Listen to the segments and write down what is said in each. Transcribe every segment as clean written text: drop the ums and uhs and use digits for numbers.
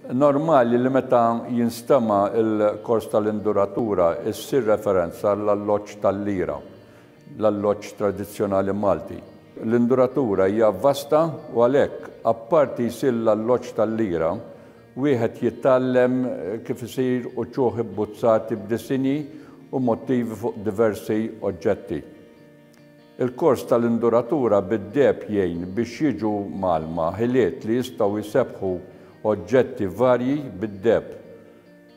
Normali li meta jinstema' l-kors tal-induratura ssir referenza għall-alloġġ tal-lira, l-alloġġ tradizzjonali Malti. L-induratura hija vasta u għalhekk apparti jsir l-alloġġ tal-lira, wieħed jitgħallem kif isir uċuħ ibbuzzati b'disinji u mottivi fuq diversi oġġetti. Il-kors tal-induratura bid-deheb jgħin biex jiġu mgħallma ħiliet li jistgħu jsebbħu oġġetti varji bid-deheb.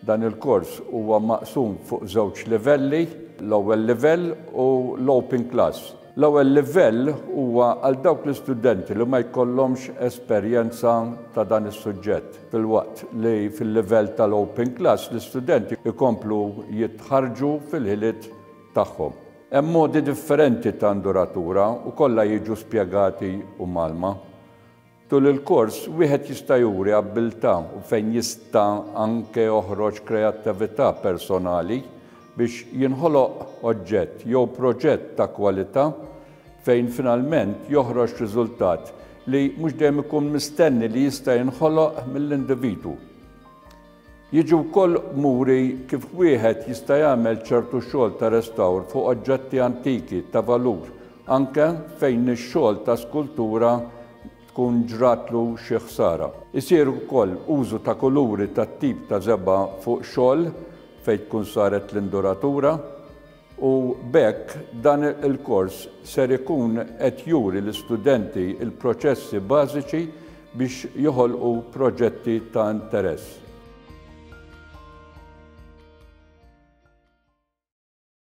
Dan il-kors huwa maqsum fuq żewġ livelli, l-ewwel livell u l-open class. L-ewwel livell huwa għal dawk l-istudenti li ma jkollhomx esperjenza ta' dan is-suġġett, filwaqt li fil-livell tal-open class l-istudenti jkomplu jitħarrġu fil-ħiliet tagħhom. Hemm modi differenti ta' induratura u kollha jiġu spjegati u mgħallma. Tul il-kors wieħed jista' juri abbiltà u fejn jista' anke joħroġ kreattività personali biex jinħoloq oġġett jew proġett ta' kwalità fejn finalment joħroġ riżultat li mhux dejjem ikun mistenni li jista' jinħoloq mill-individwu. Jiġi wkoll muri kif wieħed jista' jagħmel ċertu xogħol ta' restawr fuq oġġetti antiki ta' valur, anke fejn ix-xogħol ta' skultura tkun ġratlu xi ħsara. Isir ukoll użu ta' kuluri tat-tip ta' żebgħa fuq xogħol fejn tkun saret l-induratura u b'hekk dan il-kors ser ikun qed juri l-istudenti l-proċessi bażiċi biex joħolqu proġetti ta' interess.